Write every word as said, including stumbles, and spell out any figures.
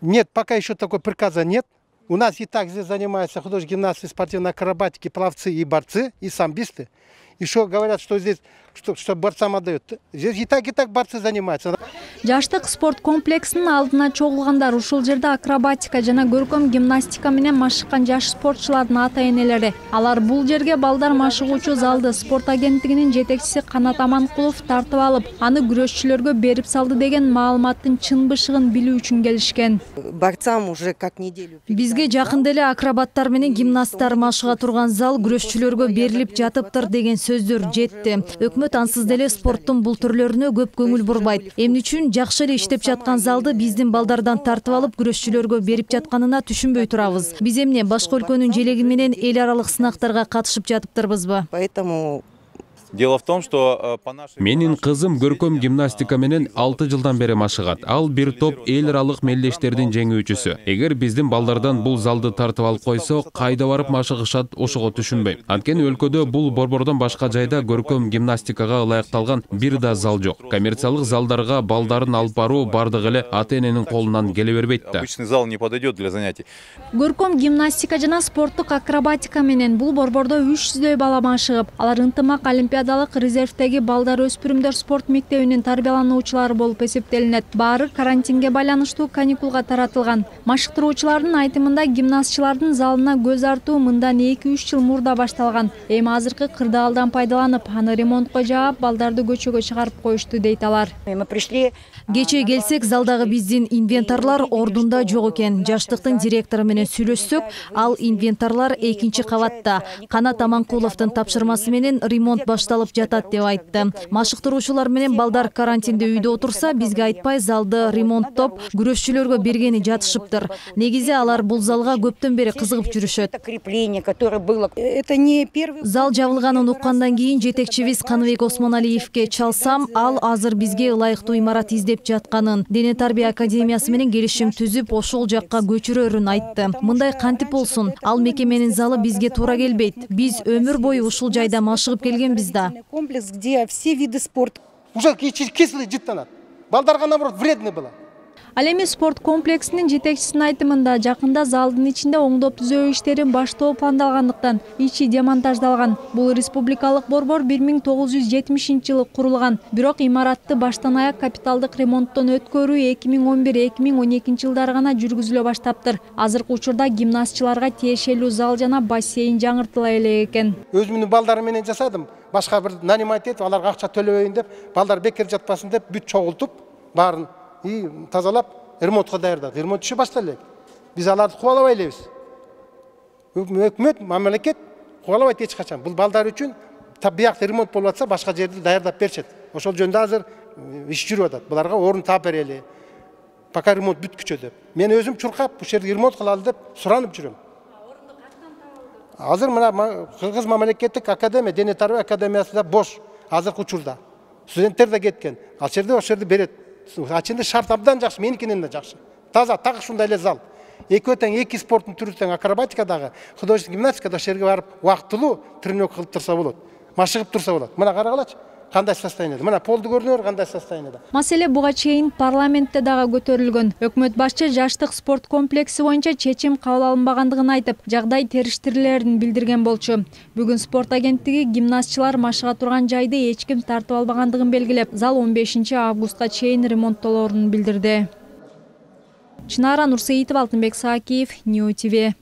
Нет, пока еще такой приказа нет. У нас и так здесь занимаются художественные гимнасты, спортивной акробатики, пловцы и борцы, и самбисты. Еще говорят, что здесь что, что борцам отдают. Здесь и так, и так борцы занимаются. Жаштык спорт комплексинин алдына чогулгандар ушул жерде акробатика жана көркөм гимнастика менен машыккан жаш спортчулардын ата-энелери. Алар бул жерге балдар машыгуучу залды спорт агенттигинин жетекчиси Канат Аманкулов тартып алып, аны күрөшчүлөргө берип салды деген маалыматтын чын бышыгын билүү үчүн келишкен. Борцам уже как неделю. Бизге жакында эле акробаттар менен гимнасттар машыга турган зал күрөшчүлөргө берилип жатыптыр деген сөздөр жетти. Өкмөт ансыз деле спорттун бул түрлөрүнө көп көңүл бурбайт. Эмне үчүн жакшы эле иштеп жаткан залды биздин балдардан тартып алып күрөшчүлөргө берип жатканына түшүнбөй турабыз. Биз эмне башка өлкөнүн желеги менен эл аралык сынактарга катышып жатыптырбызбы? Поэтому Дело в том, что по нашей... Менин кызым көркөм гимнастика менен алты жылдан бери машыгат. Ал бир топ эл аралык мелдештердин жеңүүчүсү. Эгер биздин балдардан бул залды тартып алып койсо, кайда барып машыгышат, ошого түшүнбөйм. Анткени өлкөдө бул борбордон башка жайда көркөм гимнастикага ылайыкталган бир да зал жок. Коммерциялык залдарга балдарын алып баруу бардыгы эле ата-эненин колунан келе бербейт да. Обычный зал не подойдет для занятий. Көркөм гимнастика жана спорттук акробатика менен бул борбордо үч жүздөй бала машыгып, алар ынтымак олимпиадалык резервдеги балдар өспүрүмдөр спорт мектебинин тарбиялануучулары болуп эсептелинет. Баары карантинге байланыштуу каникулга таратылган. Машыктыруучулардын айтымында гимнастчылардын залына көз артуу мындан эки үч жыл мурда башталган. Эми азыркы кырдаалдан пайдаланып, аны ремонтко жаап, балдарды көчөгө чыгарып коюшту дейт алар. Кечээ келсек, залдагы биздин инвентарлар ордунда жок экен. Жаштыктын директору менен сүйлөшсөк, ал инвентарлар экинчи кабатта. Канат Аманкуловдун тапшырмасы менен ремонт башталып жатат деп айтты. Машыктыруучулар менен балдар карантинде үйдө отурса, бизге айтпай залды ремонттоп, күрөшчүлөргө бергени жатышыптыр. Негизи алар бул залга көптөн бери кызыгып жүрүшөт. Зал жабылганын уккандан кийин жетекчибиз Каныбек Осмоналиевке чалсам, ал азыр бизге ылайыктуу имарат издеп жатканын, Дене тарбия академиясы менен келишим түзүп, ошол жакка көчүрөрүн айтты. Мындай кантип болсун, ал мекеменин залы бизге туура келбейт. Биз өмүр бою ушул жайда машыгып келгенбиз да. Комплекс, где все виды спорта. Уже кислый жыттанат. Балдарга наоборот вредный было. Ал эми спорт комплексинин жетекчисинин айтымында жакында залдын ичинде оңдоп түзөө иштерин баштоо пландалгандыктан ичи демонтаждалган. Бул республикалык борбор бир миң тогуз жүз жетимишинчи жылы курулган. Бирок имаратты баштан аяк капиталдык ремонттон өткөрүү эки миң он бир эки миң он экинчи жылдары гана жүргүзүлө баштаптыр. Азыркы учурда гимнастчыларга тиешелүү зал жана бассейн жаңыртыла элек экен. Өзүмдүн балдарым менен жасадым. Башка бир нанимать этип, аларга акча төлөбөйүн деп, балдар бекер жатпасын деп бүт чогултуп, баарын и тазалап ремонтко даярдадык. Ремонт иши башталды. Биз аларды кубалабай элебиз. Өкмөт, мамлекет кубалабайт эч качан. Бул балдар үчүн биякта ремонт болуп атса, башка жерди даярдап беришет. Ошол жөндө азыр иш жүрүп атат. Буларга орун таап берели. Пока ремонт бүткүчө деп. Мен өзүм чуркап, бул жерди ремонт кылалы деп суранып жүрөм. Азыр мына Кыргыз мамлекеттик академия, Дене тарбия академиясында бош азыркы учурда. Студенттер да кеткен. Ал жерде ошол жерди берет. Ачында шарт абдан жакшы, меникинен да жакшы. Таза, так ушундай эле зал. Экөө тең эки спорттун түрү тең акробатикадагы, художественный гимнастикада ошол жерге барып убактылуу тренировка кылып турса болот. Машыгып турса болот. Мына карагалачы. Кандай состояниеде? Мына полду көрүнөр, кандай состояниеде. Маселе буга чейин парламентте дагы көтөрүлгөн. Өкмөт башчы жаштык спорт комплекси боюнча чечим кабыл алынбагандыгын айтып, жагдай териштирилерин билдирген болчу. Бүгүн спорт агенттиги гимнастчылар машыга турган жайды эч ким тартып албагандыгын белгилеп, зал он бешинчи августка чейин ремонттолоорун билдирди. Чынара Нурсеитова, Алтынбек Саакиев, Нью ТВ.